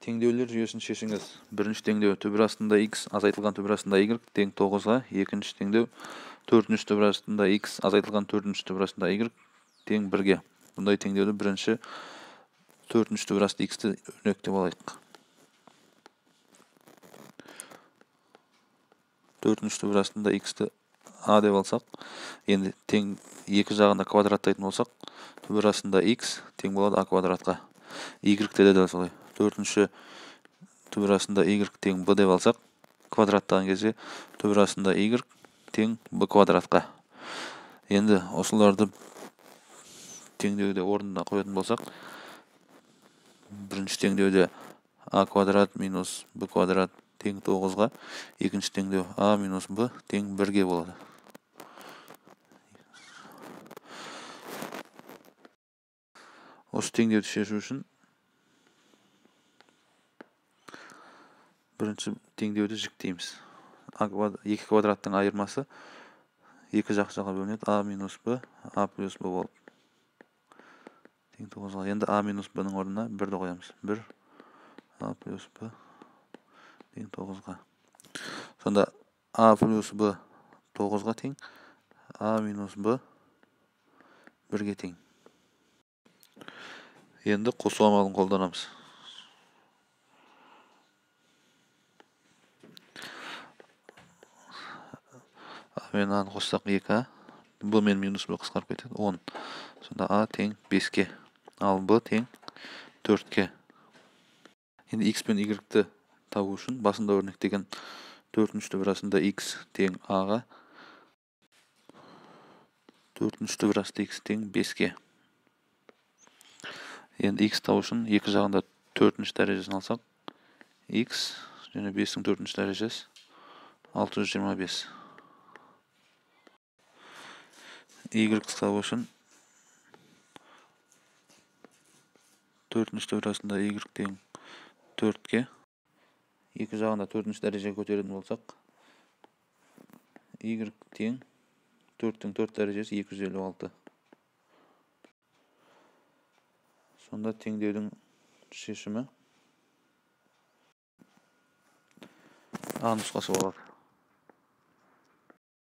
Теңдеулер жүйесін шешіңіз. Бірінші теңдеу түбір астында x азайтылған түбір астында y тең 9-ға. Екінші теңдеу төртінші түбір астында x азайтылған төртінші түбір астында y тең 1-ге. Бұндай теңдеуді бірінші төртінші түбір асты x-ті өрнектеп алайық. Төртінші түбір астында x-ті a деп алсақ, енді тең екі жағында квадраттайтын болсақ, түбір астында x тең болады a квадратқа. Y-те де дәл солай. Төртінші түбір астында y тең b деп алсақ, квадраттаған кезде түбір астында y тең b квадратқа. Енді осыларды теңдеуде орнына қоятын болсақ, бірінші теңдеуде a квадрат минус b квадрат тең 9-ға, екінші теңдеу a минус b тең 1-ге болады. Осы теңдеуді шешу үшін бірінші теңдеуді жіктейміз. Екі квадраттың айырмасы екі жаққа бөлінеді. a минус b, a плюс b болып. Тең 9-ға. Енді a минус b-ның орнына 1-ді қоямыз. 1 a плюс b тең 9-ға. Сонда a плюс b 9-ға тең, a минус b 1-ге тең. Енді қосу амалын қолданамыз. Мен a-ны қоссақ 2a, b мен минус b қысқарып кетеді, 10. Сонда a тең 5-ке, ал b тең 4-ке. Енді x пен y-ті табу үшін басында өрнектеген төртінші түбір астында x тең a-ға, төртінші түбір асты x тең 5-ке. Енді x табу үшін екі жағында төртінші дәрежесін алсақ, x және 5-ің төртінші дәрежесі 625. Y табу үшін төртінші түбір астында y тең 4-ке. Екі жағында төртінші дәрежеге көтеретін болсақ, y тең 4-тің 4 дәрежесі 256. Сонда теңдеудің шешімі А нұсқасы болады.